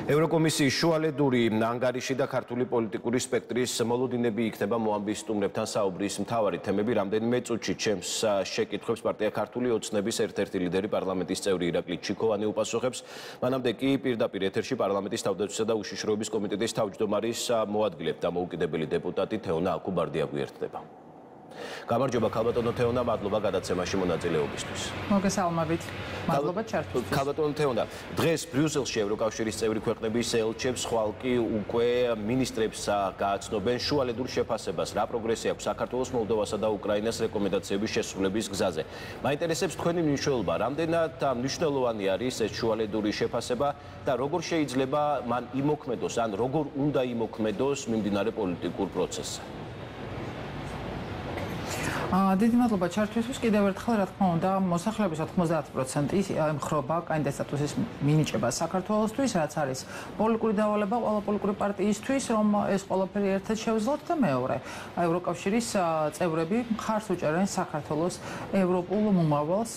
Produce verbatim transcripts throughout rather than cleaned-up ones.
ევროკომისიის შუალედური ანგარიში და ქართული პოლიტიკური სპექტრის მოლოდინები იქნება მოამბის სტუმრებთან საუბრის მთავარი თემები. რამდენიმე წუთში ჩემს შეკითხვებს პარტია ქართული ოცნების ერთ-ერთი ლიდერი პარლამენტის წევრი ირაკლი ჩიქოვანი უპასუხებს. მანამდე კი პირდაპირ ეთერში პარლამენტის თავდაცვისა და უშიშროების კომიტეტის თავმჯდომარის მოადგილედ დამოუკიდებელი დეპუტატი თეონა აკუბარდია გვერდება. გამარჯობა ქალბატონო თეონა, მადლობა გადაცემაში მონაწილეობისთვის. მოგესალმებით. მადლობა ჩართვისთვის. ქალბატონო თეონა, დღეს ბრიუსელში ევროკავშირის წევრი ქვეყნების ელჩებს ხვალკი უკვე მინისტრებს გააცნობენ შუალედურ შეფასებას. რა პროგრესი აქვს საქართველოს, მოლდოვასა და უკრაინას რეკომენდაციების შესრულების გზაზე. მაინტერესებს თქვენი მნიშვნელობა, რამდენად მნიშვნელოვანი არის ეს შუალედური შეფასება და როგორ შეიძლება მან იმოქმედოს, ან როგორ უნდა იმოქმედოს მიმდინარე პოლიტიკურ პროცესზე. დიდი მადლობა ჩართვისთვის. კიდევ ერთხელ რა თქმა უნდა, მოსახლეობის ოთხმოცდაათი პროცენტი ემხრობა კანდიდატ სტატუსის მინიჭებას საქართველოსთვის, რაც არის პოლიტიკური დავალება ყველა პოლიტიკური პარტიისთვის, რომ ეს ყველაფერი ერთად შევძლოთ და მეორე, ევროკავშირის წევრები მხარს უჭერენ საქართველოს ევროპულ მომავალს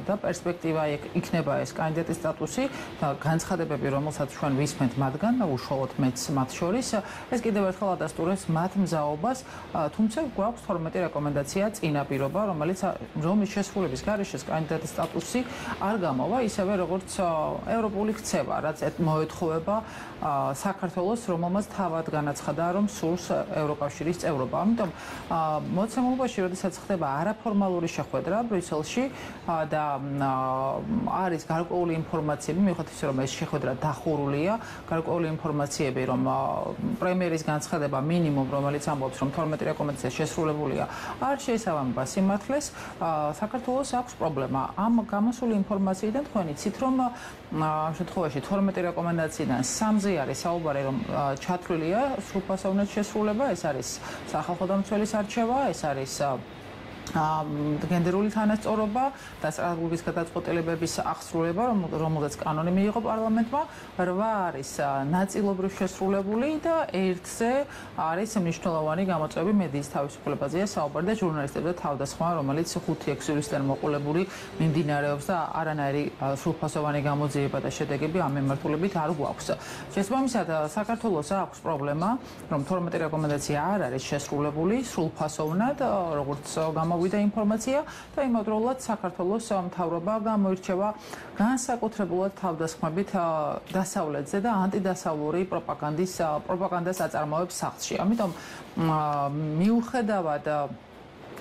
და პერსპექტივა იქნება ეს კანდიდატის სტატუსი და განცხადებები, რომელსაც ჩვენ ვისმენთ მათგან და უშუალოდ მეც მათ შორის, ეს კიდევ ერთხელ ადასტურებს მათ მზაობას, თუმცა გვაქვს თორმეტი რეკომენდაცია წინა პირობა, რომელიც რომის შესრულების გარეშე კანდიდატის სტატუსი არ გამოვა, ისევე როგორც ევროპული ქცევა, რაც მოეთხოვება საქართველოს, რომელმაც თავად განაცხადა, რომ სურს ევროკავშირის წევრობა. ამიტომ მოცემულობაში, როდესაც ხდება არაფორმალური შეხვედრა ბრიუსელში და არის გარკვეული ინფორმაციები, მიუხედავად იმისა, რომ ეს შეხვედრა დახურულია, გარკვეული ინფორმაციები, რომ პრემიერის განცხადება მინიმუმ, რომელიც ამბობს, რომ თორმეტი რეკომენდაცია შესრულებულია, არ შესაბამება სიმართლეს, საქართველოს აქვს პრობლემა. ამ გამოსული ინფორმაციიდან თქვენ იცით, რომ ამ შემთხვევაში თორმეტი რეკომენდაციიდან სამზე არის საუბარი, რომ ჩათვლილია სრულფასოვნად შესრულება, ეს არის სახალხო დამცველის არჩევა, ეს არის გენდერული თანასწორობა და სტრატეგიის გადაწყვეტილებების აღსრულება, რომელზეც კანონი მიიღო პარლამენტმა, რვა არის ნაწილობრივ შესრულებული და ერთზე არის მნიშვნელოვანი გამოწვევები მედიის თავისუფლებაზეა საუბარი და ჟურნალისტებზე თავდასხმა, რომელიც ხუთი ექვსი ივლისიდან მოყოლებული მიმდინარეობს და არანაირი სრულფასოვანი გამოძიება და შედეგები ამ მიმართულებით არ გვაქვს. შესაბამისად, საქართველოს აქვს პრობლემა, რომ თორმეტი რეკომენდაცია არ არის შესრულებული სრულფასოვნად, როგორც გამოვიდა ინფორმაცია და იმავდროულად საქართველოს მთავრობა გამოირჩევა განსაკუთრებულად თავდასხმებით დასავლეთზე და ანტიდასავლური პროპაგანდის პროპაგანდას აწარმოებს სახლში. ამიტომ მიუხედავად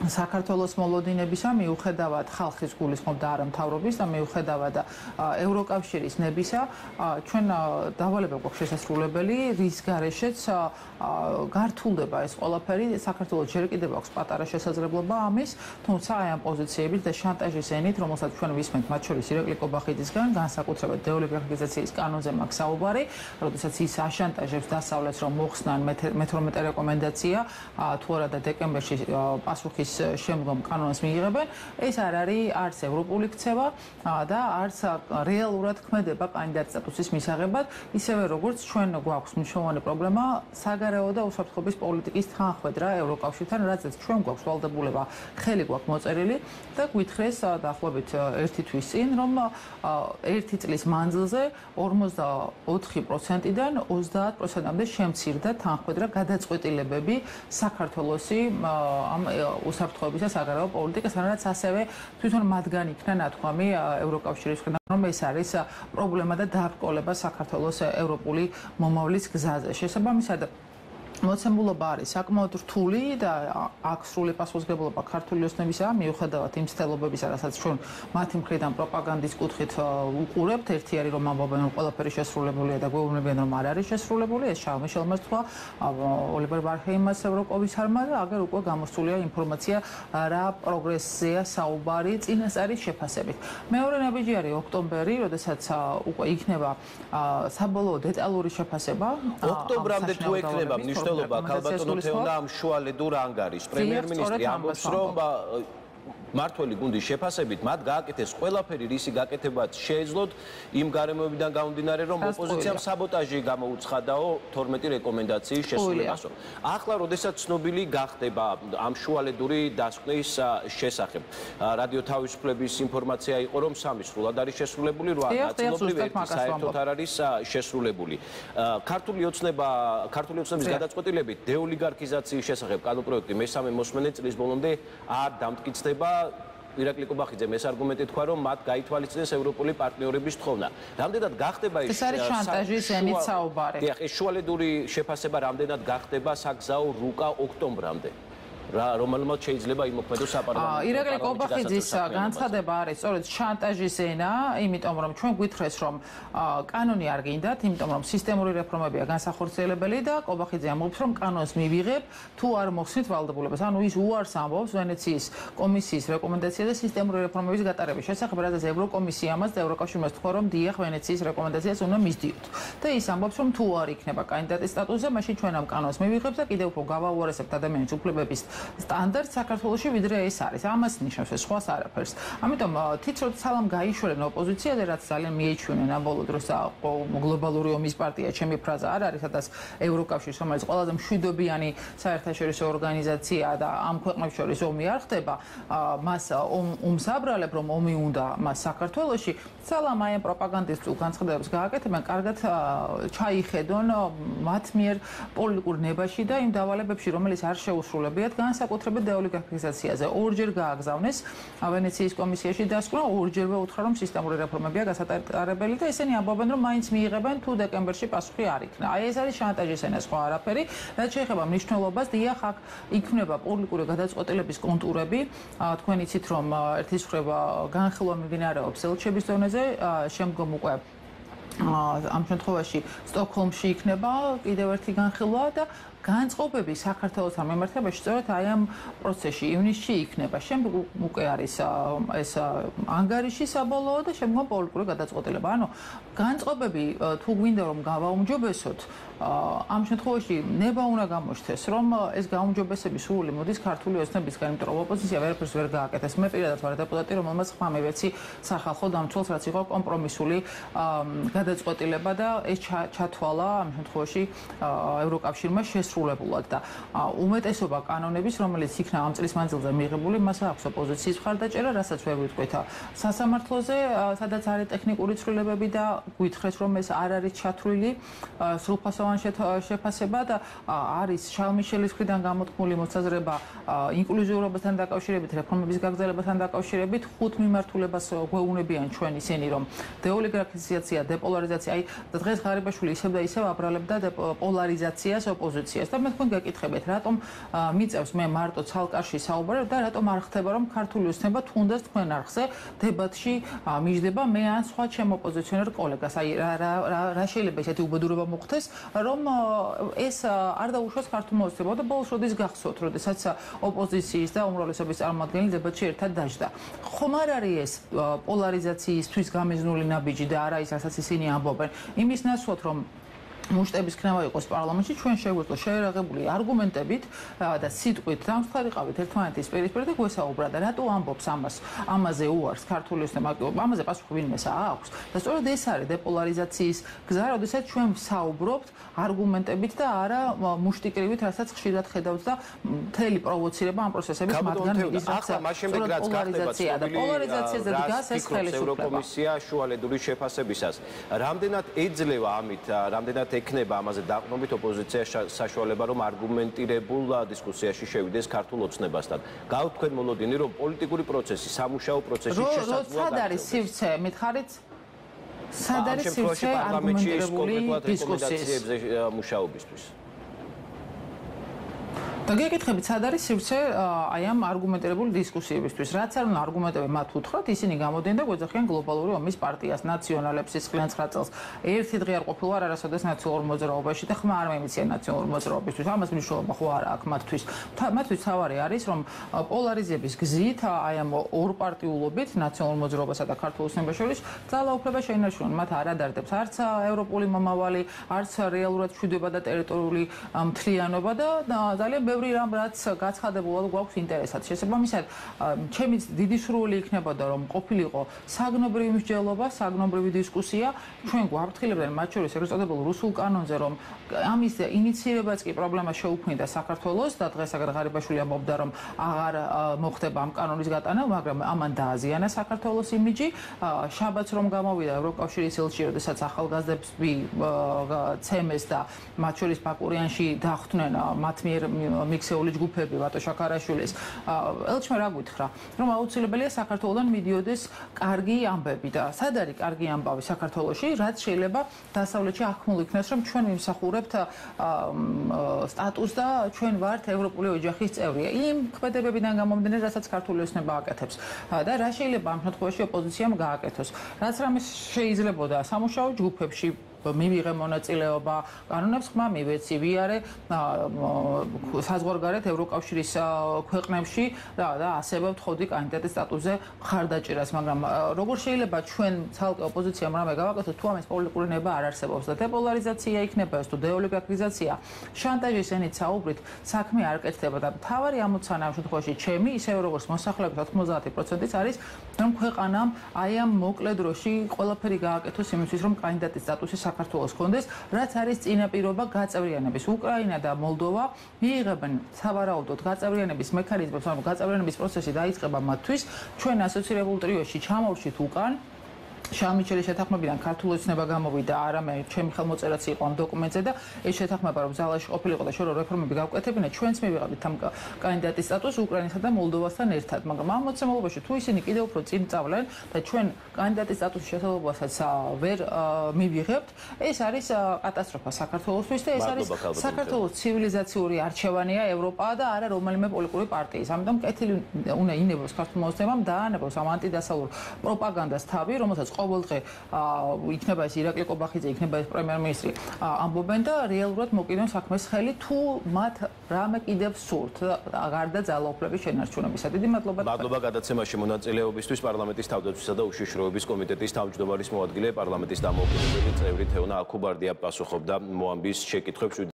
საქართველოს მოლოდინებისა, მიუხედავად ხალხის გულისხმობ და არა მთავრობის და მიუხედავად ევროკავშირის ნებისა, ჩვენ დავალება გვაქვს შესასრულებელი, რის გარეშეც გართულდება ეს ყველაფერი. საქართველოს ჯერ კიდევ აქვს პატარა შესაძლებლობა ამის, თუმცა აი ამ პოზიციებით და შანტაჟის ენით, რომელსაც ჩვენ ვისმენთ მათ შორის ირაკლი კობახიძისგან, განსაკუთრებით დეოლიბერალიზაციის კანონზე მაქვს საუბარი, როდესაც ის აშანტაჟებს დასავლეთს, რომ მოხსნან მეთორმეტე რეკომენდაცია, თუ არა და დეკემბერში პასუხის შემდგომ კანონს მიიღებენ, ეს არ არის არც ევროპული ქცევა და არც რეალურად ქმედება კანდიდატ სტატუსის მისაღებად, ისევე როგორც ჩვენ გვაქვს მნიშვნელოვანი პრობლემა საგარეო და უსაფრთხოების პოლიტიკის თანხმედრა ევროკავშირთან, რაზეც ჩვენ გვაქვს ვალდებულება, ხელი გვაქვს მოწერილი და გვითხრეს დაახლოებით ერთი თვის წინ, რომ ერთი წლის მანძილზე ორმოცდაოთხი პროცენტიდან ოცდაათ პროცენტამდე შემცირდა თანხმედრა გადაწყვეტილებები საქართველოსი ამ უსაფრთხოების და საგარეო პოლიტიკასთან, რაც ასევე თვითონ მათგან იქნა ნათქვამი ევროკავშირის მხრიდან, რომ ეს არის პრობლემა და დაბრკოლება საქართველოს ევროპული მომავლის გზაზე. შესაბამისად, მოცემულობა არის საკმაოდ რთული და აქვს სრული პასუხისმგებლობა ქართული ოცნებისა, მიუხედავად იმ ცდელობებისა, რასაც ჩვენ მათი მხრიდან პროპაგანდის კუთხით უყურებთ. ერთი არის, რომ ამბობენ, რომ ყველაფერი შესრულებულია და გვეუბნებიან, რომ არ არის შესრულებული. ეს შარლ მიშელმა თქვა, ოლივერ ვარჰეიმას ევროკომისარმა და აგერ უკვე გამოსულია ინფორმაცია, რა პროგრესზეა საუბარი წინასწარი შეფასებით. მეორე ნაბიჯი არის ოქტომბერი, როდესაც უკვე იქნება საბოლოო დეტალური შეფასება. ოქტომბრამდე თუ ექნება მნიშვნელობა ქალბატონო თეონა ამ შუალედურ ანგარიშს. პრემიერ-მინისტრი ამბობს, რომ მართველი გუნდის შეფასებით მათ გააკეთეს ყველაფერი, რისი გაკეთებაც შეეძლოთ იმ გარემოებიდან გამომდინარე, რომ ოპოზიციამ საბოტაჟი გამოუცხადაო თორმეტი რეკომენდაციის შესრულებასო. ახლა, როდესაც ცნობილი გახდება ამ შუალედური დასკვნის შესახებ, რადიო თავისუფლების ინფორმაცია იყო, რომ სამი სრულად არის შესრულებული, რვა ნაწილობრივ ერთი საერთოდ არ არის შესრულებული. ქართული ოცნება, ქართული ოცნების გადაწყვეტილებით დეოლიგარქიზაციის შესახებ კანონპროექტი მესამე მოსმენე წლის ბოლომდე არ დამტკიცდება. ირაკლი კობახიძე ეს არგუმენტი თქვა, რომ მათ გაითვალისწინეს ევროპული პარტნიორების თხოვნა. რამდენად გახდება ის ეს არის შანტაჟის ენით საუბარი. დიახ, ეს შუალედური შეფასება რამდენად გახდება საგზაო რუკა ოქტომბრამდე. რომელმაც შეიძლება იმოქმედოს საპარლამენტო. ირაკლი კობახიძის განცხადება არის სწორედ შანტაჟის ენა, იმიტომ რომ ჩვენ გვითხრეს რომ კანონი არ გინდათ, იმიტომ რომ სისტემური რეფორმებია განსახორციელებელი და კობახიძე ამბობს რომ კანონს მივიღებ თუ არ მოხსნით ვალდებულებას. ანუ ის უარს ამბობს ვენეციის კომისიის რეკომენდაცია და სისტემური რეფორმების გატარების შესახებ, რადგან ევროკომისიამაც და ევროკავშირმაც თქვა რომ დიახ ვენეციის რეკომენდაციას უნდა მისდიოთ. და ის ამბობს რომ თუ არ იქნება კანდიდატის სტატუსზე, მაშინ ჩვენ ამ კანონს მივიღებთ და კიდევ უფრო გავაუარესებთ ადამიანის უფლებების სტანდარტ საქართველოში ვიდრე ეს არის. ამას ნიშნავს ეს სხვას არაფერს. ამიტომ თიც რომ სალამ გაიშვნენ ოპოზიციაზე, რაც ძალიან მიეჩვენენ ამ ბოლო დროს გლობალური ომის პარტია, ჩემი ფრაზა არ არის, სადაც ევროკავშირს, რომელიც ყველაზე მშვიდობიანი საერთაშორისო ორგანიზაცია და ამ ქვეყნებს შორის ომი არ ხდება, მას ომს აბრალებ, რომ ომი უნდა მას საქართველოში. სალამ აი ამ პროპაგანდისტულ განცხადებებს გააკეთებენ, კარგად ჩაიხედონ მათ მიერ პოლიტიკურ ნებაში და იმ დავალებებში, რომელიც არ შეუსრულებიათ განსაკუთრებით დეოლიგარქიზაციაზე. ორჯერ გააგზავნეს ვენეციის კომისიაში დასკვნა, ორჯერვე უთხრა რომ სისტემური რეფორმებია გასატარებელი და ესენი ამბობენ რომ მაინც მიიღებენ თუ დეკემბერში პასუხი არ იქნა. აი ეს არის შანტაჟის ენა, სხვა არაფერი. რაც შეეხება მნიშვნელობას, დიახ, აქ იქმნება პოლიტიკური გადაწყვეტილების კონტურები. თქვენ იცით რომ ერთის მხრივ განხილვა მიმდინარეობს ელჩების ზონაზე, შემდგომ უკვე ამ შემთხვევაში სტოკჰოლმში იქნება კიდევ ერთი განხილვა და განწყობები საქართველოსთან მიმართებაში სწორედ აი ამ პროცესში ივნისში იქნება. შემდგომ უკვე არის ეს ანგარიში საბოლოო და შემდგომ პოლიტიკური გადაწყვეტილება. ანუ განწყობები თუ გვინდა რომ გავაუმჯობესოთ, ამ შემთხვევაში ნება უნდა გამოჩნდეს, რომ ეს გაუმჯობესების სრული მოდის ქართული ოცნებისგან, იმიტომ რომ ოპოზიცია ვერაფერს ვერ გააკეთეს. მე პირადად ვარ დეპუტატი, რომელმაც ხმა მივეცი სახალხო დამცველს, რაც იყო კომპრომისული გადაწყვეტილება და ეს ჩათვალა ამ შემთხვევაში ევროკავშირმა შესრულებულად და უმეტესობა კანონების, რომელიც იქნა ამ წლის მანძილზე მიღებული, მას აქვს ოპოზიციის მხარდაჭერა, რასაც ვერ ვიტყვით სასამართლოზე, სადაც არის ტექნიკური ცვლილებები და გვითხრეს, რომ ეს არ არის ჩათვლილი სრულფასოვანი შეფასება და არის შალმიშელის მხრიდან გამოთქმული მოსაზრება ინკლუზიურობასთან დაკავშირებით, რეფორმების გაგრძელებასთან დაკავშირებით, ხუთ მიმართულებას გვეუბნებიან ჩვენ ისინი, რომ დეოლიგარქიზაცია, დეპოლარიზაცია, აი დღეს ღარიბაშვილი ისევ და ისევ აბრალებდა პოლარიზაციას ოპოზიციას და მე თქვენ გეკითხებით, რატომ მიწევს მე მარტო ცალკარში საუბარებ და რატომ არ ხდება, რომ ქართული ოცნება თუნდაც თქვენ არხზე დებატში მიჯდება მე ან სხვა ჩემ ოპოზიციონერ კოლეგას. აი რა შეიძლება ისეთი უბედურება მოხდეს, რომ ეს არ დაუშვას ქართულმა ოცნებამ და ბოლოს როდის გახსოვთ, როდესაც ოპოზიციის და უმრავლესობის წარმომადგენელი დებატში ერთად დაждდა. ხომ არ არის ეს პოლარიზაციისთვის გამიზნული ნაბიჯი და არა ის, რასაც ისინი ამბობენ. იმის ნაცვლად, რომ მუშტების ქნევა იყოს პარლამენტში, ჩვენ შეგვიძლია შეერაღებული არგუმენტებით და სიტყვით დამსხმარიყავით ერთმანეთის პირისპირ და გვესაუბრა და რატო ამბობს ამას, ამაზე უარს ქართული ოცნება, ამაზე პასუხი ვინმეს აქვს. და სწორედ ეს არის დეპოლარიზაციის გზა, როდესაც ჩვენ ვსაუბრობთ არგუმენტებით და არა მუშტიკრივით, რასაც ხშირად ხედავთ და მთელი პროვოცირება ამ პროცესების მათგან მიდის, რაც პოლარიზაცია და პოლარიზაციაზე დგას ეს ხელისუფლება. ევროკომისია შუალედური შეფასებისას. რამდენად ეძლევა ამით, რამდენად ეკნება ამაზე დაყრდნობით ოპოზიცია საშუალება, რომ არგუმენტირებულ დისკუსიაში შევიდეს ქართულ ოცნებასთან. გავთ თქვენ მოლოდინი, რომ პოლიტიკური პროცესი, სამუშაო პროცესი შესაძლოა. სად არის სივრცე, მითხარით? სად არის სივრცე არგუმენტირებული დისკუსიებზე მუშაობისთვის? და გეკითხებით, სად არის სივრცე აი ამ არგუმენტირებული დისკუსიებისთვის? რაც არ უნდა არგუმენტები მათ უთხრათ, ისინი გამოდიან და გვეძახიან გლობალური ომის პარტიას, ნაციონალებს სისხლიან ცხრა წელს. ერთი დღე არ ყოფილა არასოდეს ნაციონალურ მოძრაობაში და ხმა არ მეიმიციან ნაციონალურ მოძრაობისთვის. ამას მნიშვნელობა ხო არა აქვს მათთვის. მათთვის თავარი არის, რომ პოლარიზების გზით, აი ამ ორპარტიულობით, ნაციონალურ მოძრაობასა და ქართულ ოცნებას შორის ძალაუფლება შეინარჩუნონ. მათ არ ადარდებს არც ევროპული მომავალი, არც რეალურად მშვიდობა და ტერიტორიული მთლიანობა და ძალიან ბევრი ბევრი რამ რაც გაცხადებულად გვაქვს ინტერესად. შესაბამისად, ჩემი დიდი სურვილი იქნებოდა რომ ყოფილიყო საგნობრივი მსჯელობა, საგნობრივი დისკუსია, ჩვენ გვაფრთხილებდნენ მათ შორის ეგრეთ წოდებულ რუსულ კანონზე, რომ ამის ინიციირებაც კი პრობლემა შეუქმნიდა საქართველოს და დღეს აგერ ღარიბაშვილი ამბობდა რომ აღარ მოხდება ამ კანონის გატანა, მაგრამ ამან დააზიანა საქართველოს იმიჯი. შაბათს რომ გამოვიდა ევროკავშირის ელჩი, როდესაც ახალგაზრდებს ცემეს და მათ შორის ბაკურიანში დახვდნენ მათ მიერ მიქსეული ჯგუფები ვატო შაქარაშვილის. ელჩმა რა გითხრა, რომ აუცილებელია საქართველოსთან მიდიოდეს კარგი ამბები და სად არის კარგი ამბავი საქართველოში, რაც შეიძლება დასავლეთში ახმულ იქნას, რომ ჩვენ ვიმსახურებთ სტატუსს და ჩვენ ვართ ევროპული ოჯახის წევრი. იმ ქმედებებიდან გამომდინარე, რასაც ქართული ოცნება აკეთებს და რა შეიძლება ამ შემთხვევაში ოპოზიციამ გააკეთოს. რაც რამე შეიძლებოდა სამუშაო ჯგუფებში მივიღე მონაწილეობა, კანონებს ხმა მივეცი, ვიარე საზღვარგარეთ ევროკავშირის ქვეყნებში და და ასევე ვთხოვდი კანდიდატის სტატუსზე მხარდაჭერას, მაგრამ როგორ შეიძლება ჩვენ ცალკე ოპოზიციამ რამე გავაკეთოთ, თუ ამის პოლიტიკური ნება არ არსებობს და დეპოლარიზაცია იქნება ეს თუ დეოლიგარქიზაცია, შანტაჟის ენით საუბრით საქმე არ კეთდება და მთავარი ამოცანა ამ შემთხვევაში ჩემი, ისევე როგორც მოსახლეობის ოთხმოცდაათი პროცენტის არის, რომ ქვეყანამ აი ამ მოკლე დროში ყველაფერი გააკეთოს იმისთვის, რომ კანდიდატის სტატუსი საქართველოს კონდეს, რაც არის წინაპირობა გაწევრიანების. უკრაინა და მოლდოვა მიიღებენ სავარაუდოდ გაწევრიანების მექანიზმებს, ანუ გაწევრიანების პროცესი დაიწყება მათთვის. ჩვენ ასოცირებულ ტრიოში ჩამოვშით უკან. შამიჩელის შეთანხმებიდან ქართული ოცნება გამოვიდა, არამე ჩემი ხელმოწერაც იყო ამ დოკუმენტზე და ეს შეთანხმება რომ ზალაში ყოფილიყო და შორო რეფორმები გავკეთებინა, ჩვენც მივიღავით ამ კანდიდატის სტატუსს უკრაინასა და მოლდოვასთან ერთად, მაგრამ ამ მოცემულობაში თუ ისინი კიდევ უფრო წინ წავლენ და ჩვენ კანდიდატის სტატუსის შესაძლებლობასაც ვერ მივიღებთ, ეს არის კატასტროფა საქართველოსთვის და ეს არის საქართველოს ცივილიზაციური არჩევანია ევროპა და არა რომელიმე პოლიტიკური პარტიის. ამიტომ კეთილი უნდა ინებოს ქართულმა ოცნებამ დაანებოს ამ ანტიდასავლურ პროპაგანდას თავი, რომელსაც ყოველდღე იქნება ეს ირაკლი კობახიძე, იქნება ეს პრემიერ-მინისტრი ამბობენ და რეალურად მოკიდონ საქმეს ხელი თუ მათ რამე კიდევ სურთ გარდა ძალაუფლების შენარჩუნებისა. დიდი მადლობა. მადლობა გადაცემაში მონაწილეობისთვის. პარლამენტის თავდაცვისა და უშიშროების კომიტეტის თავმჯდომარის მოადგილე, პარლამენტის დამოუკიდებელი წევრი თეონა აქუბარდია პასუხობდა მოამბის შეკითხვებს.